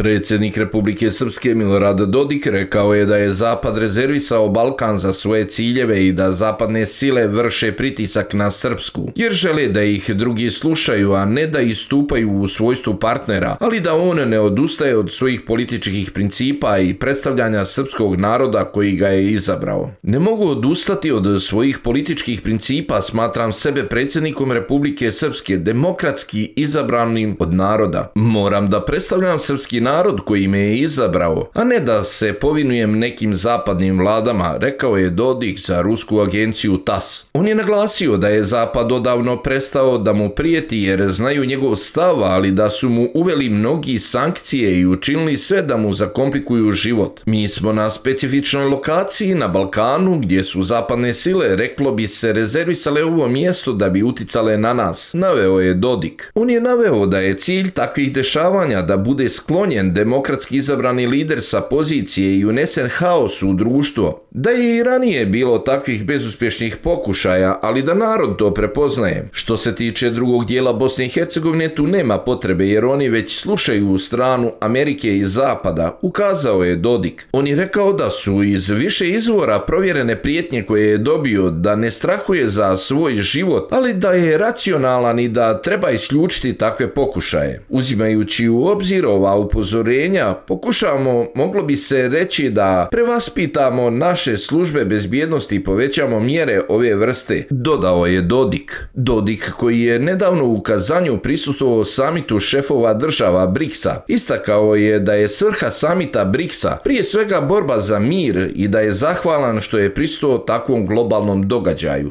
Predsjednik Republike Srpske Milorad Dodik rekao je da je Zapad rezervisao Balkan za svoje ciljeve i da zapadne sile vrše pritisak na Srpsku, jer žele da ih drugi slušaju, a ne da istupaju u svojstvu partnera, ali da on ne odustaje od svojih političkih principa i predstavljanja srpskog naroda koji ga je izabrao. Ne mogu odustati od svojih političkih principa, smatram sebe predsjednikom Republike Srpske, demokratski izabranim od naroda. Moram da predstavljam srpski narod koji me je izabrao, a ne da se povinujem nekim zapadnim vladama, rekao je Dodik za rusku agenciju TASS. On je naglasio da je Zapad odavno prestao da mu prijeti jer znaju njegov stav, ali da su mu uveli mnogi sankcije i učinili sve da mu zakomplikuju život. Mi smo na specifičnoj lokaciji na Balkanu gdje su zapadne sile, reklo bi se, rezervisale ovo mjesto da bi uticale na nas, naveo je Dodik. On je naveo da je cilj takvih dešavanja da bude sklonjen demokratski izabrani lider sa pozicije i unesen haos u društvo. Da je i ranije bilo takvih bezuspješnih pokušaja, ali da narod to prepoznaje. Što se tiče drugog dijela Bosne i Hercegovine, tu nema potrebe jer oni već slušaju stranu Amerike i Zapada, ukazao je Dodik. On je rekao da su iz više izvora provjerene prijetnje koje je dobio, da ne strahuje za svoj život, ali da je racionalan i da treba isključiti takve pokušaje. Uzimajući u obzir ova upozorenja, pokušavamo, moglo bi se reći, da prevaspitamo naše službe bezbjednosti i povećamo mjere ove vrste, dodao je Dodik. Dodik, koji je nedavno u Kazanju prisustvovao samitu šefova država BRICS-a, istakao je da je svrha samita BRICS-a prije svega borba za mir i da je zahvalan što je prisustvovao takvom globalnom događaju.